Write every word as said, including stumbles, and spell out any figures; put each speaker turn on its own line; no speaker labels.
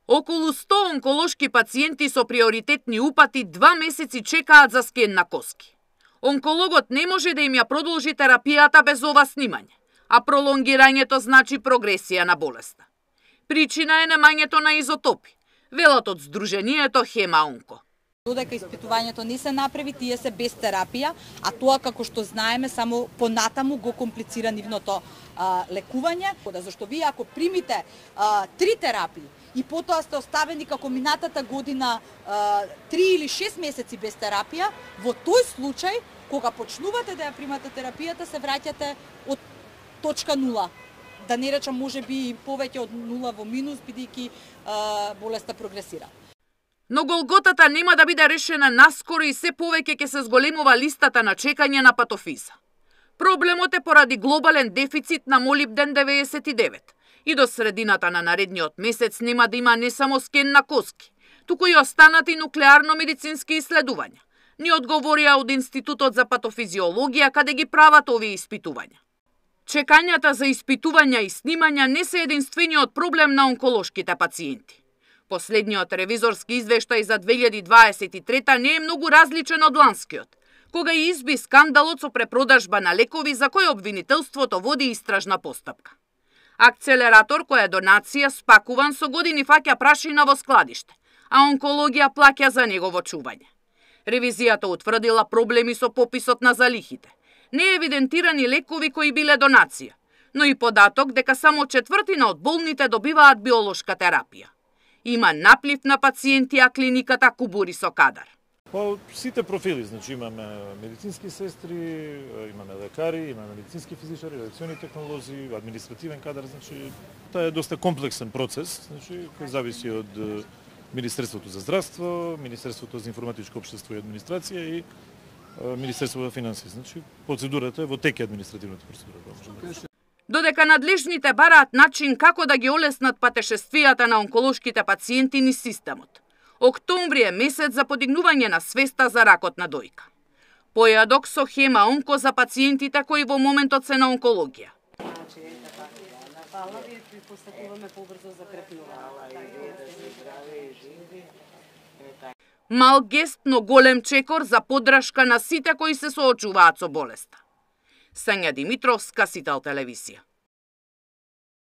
Околу сто онколошки пациенти со приоритетни упати два месеци чекаат за скен на коски. Онкологот не може да им ја продолжи терапијата без ова снимање, а пролонгирањето значи прогресија на болеста. Причина е немањето на изотопи, велат од Сдруженијето Хема-Онко.
Додека испитувањето не се направи, тие се без терапија, а тоа, како што знаеме, само понатаму го комплицира нивното а, лекување. Зашто вие ако примите а, три терапии и потоа сте оставени како минатата година а, три или шест месеци без терапија, во тој случај, кога почнувате да ја примате терапијата, се враќате од точка нула. Да не речам, може би повеќе од нула во минус, бидејќи болеста прогресира.
Но голготата нема да биде решена наскоро и се повеќе ќе се зголемува листата на чекање на патофиза. Проблемот е поради глобален дефицит на молибден деветдесет и девет и до средината на наредниот месец нема да има не само скен на коски, туку и останати нуклеарно-медицински исследувања, ни одговорија од Институтот за патофизиологија каде ги прават овие испитувања. Чекањата за испитувања и снимања не се единствениот проблем на онколошките пациенти. Последниот ревизорски извештај за две илјади дваесет и трета не е многу различен од ланскиот, кога и изби скандалот со препродажба на лекови за кој обвинителството води истражна постапка. Акцелератор која е донација спакуван со години фаќа прашина во складиште, а онкологија плаќа за негово чување. Ревизијата утврдила проблеми со пописот на залихите, не евидентирани лекови кои биле донација, но и податок дека само четвртина од болните добиваат биолошка терапија. Има наплив на пациенти, а клиниката кубури со кадар.
По сите профили, значи имаме медицински сестри, имаме лекари, имаме медицински физичари, радиациони технолози, административен кадар, значи тоа е доста комплексен процес, значи кој зависи од Министерството за здравство, Министерството за информатичко општество и администрација и Министерството за финансии. Значи процедурата е во теке административната процедура.
Додека надлежните бараат начин како да ги олеснат патешествијата на онколошките пациенти низ системот. Октомври е месец за подигнување на свеста за ракот на дојка. Појадок со Хема-Онко за пациентите кои во моментот се на онкологија. Мал гест, но голем чекор за поддршка на сите кои се соочуваат со болеста. Сања Димитровска, Сител телевизија.